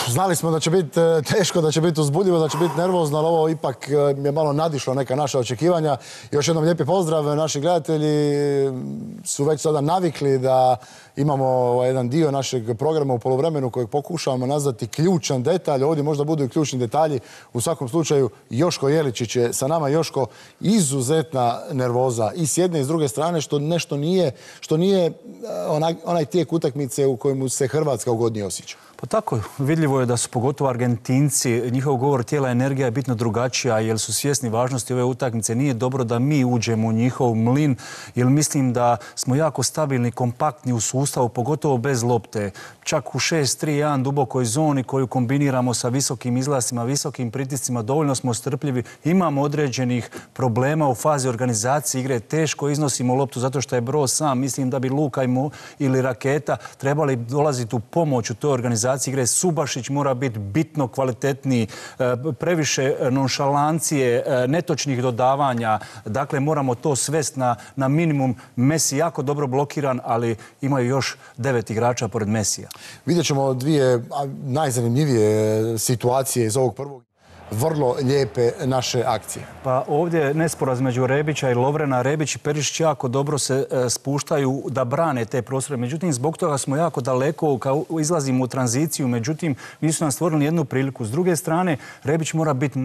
Znali smo da će biti teško, da će biti uzbudljivo, da će biti nervozno, ali ovo ipak je malo nadišlo neka naša očekivanja. Još jednom lijepi pozdrav, naši gledatelji su već sada navikli da imamo jedan dio našeg programa u poluvremenu kojeg pokušavamo nazvati ključan detalj. Ovdje možda budu i ključni detalji. U svakom slučaju, Joško Jeličić je sa nama. Joško, izuzetna nervoza i s jedne i s druge strane, što nije onaj tijek utakmice u kojemu se Hrvatska ugodnije osjeća. Pa tako, vidljivo je da su pogotovo Argentinci, njihov govor tijela, energija je bitno drugačija jer su svjesni važnosti ove utakmice. Nije dobro da mi uđemo u njihov mlin jer mislim da smo jako stabilni, kompaktni u sustavu, pogotovo bez lopte. Čak u 6-3-1 dubokoj zoni koju kombiniramo sa visokim izlasima, visokim pritiscima, dovoljno smo strpljivi. Imamo određenih problema u fazi organizacije igre. Teško iznosimo loptu zato što je Broz sam. Mislim da bi Luka ili Raketa trebali dolaziti u pomoć u toj organizaciji igre. Subašić mora biti bitno kvalitetniji, previše nonšalancije, netočnih dodavanja. Dakle, moramo to svesti na minimum. Messi jako dobro blokiran, ali imaju još 9 igrača pored Messija. Vidjet ćemo dvije najzanimljivije situacije iz ovog prvog. Vrlo lijepe naše akcije. Pa ovdje je nesporaz među Rebića i Lovrena. Rebić i Perišić jako dobro se spuštaju da brane te prostore. Međutim, zbog toga smo jako daleko, izlazimo u tranziciju. Međutim, nisu nam stvorili jednu priliku. S druge strane, Rebić mora biti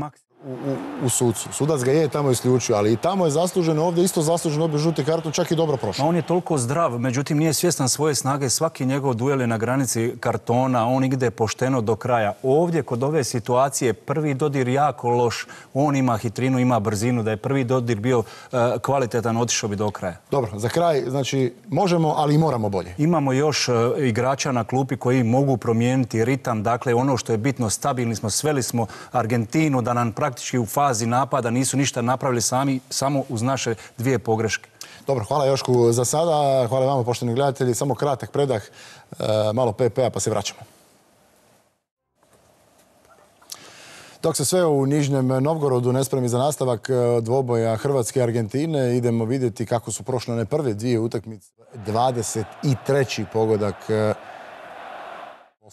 u sucu. Sudac ga je tamo isključio, ali i tamo je zasluženo, ovdje isto zasluženo dobio žuti karton, čak i dobro prošao. On je toliko zdrav, međutim nije svjestan svoje snage. Svaki njegov duel je na granici kartona, on ide pošteno do kraja. Ovdje kod ove situacije prvi dodir jako loš, on ima hitrinu, ima brzinu, da je prvi dodir bio kvalitetan, otišao bi do kraja. Dobro, za kraj, znači možemo, ali i moramo bolje. Imamo još igrača na klupi koji mogu promijeniti ritam, dakle ono što je bitno, stabilni smo, sveli smo Argentinu da nam praktički u fazi napada nisu ništa napravili sami, samo uz naše dvije pogreške. Dobro, hvala Jošku za sada. Hvala vama, poštovani gledatelji. Samo kratak predah, malo PP-a pa se vraćamo. Dok se sve u Nižnjem Novgorodu ne spremi za nastavak dvoboja Hrvatske i Argentine, idemo vidjeti kako su prošle one prve dvije utakmice. 23. pogodak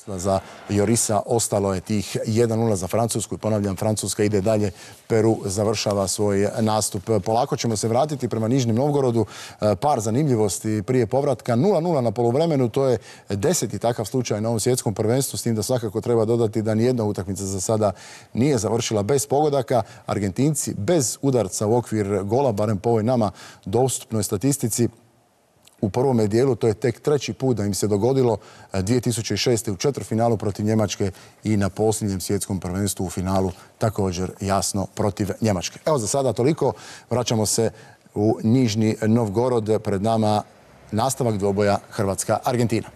za Jorisa, ostalo je tih 1-0 za Francusku i ponavljam, Francuska ide dalje, Peru završava svoj nastup. Polako ćemo se vratiti prema Nižnjem Novgorodu. Par zanimljivosti prije povratka. 0-0 na poluvremenu, to je 10. takav slučaj na ovom svjetskom prvenstvu, s tim da svakako treba dodati da nijedna utakmica za sada nije završila bez pogodaka. Argentinci bez udarca u okvir gola, barem po ovoj nama dostupnoj statistici, u prvome dijelu, to je tek treći put da im se dogodilo, 2006. u četvrtfinalu protiv Njemačke i na posljednjem svjetskom prvenstvu u finalu također jasno protiv Njemačke. Evo za sada toliko, vraćamo se u Nižni Novgorod, pred nama nastavak dvoboja Hrvatska-Argentina.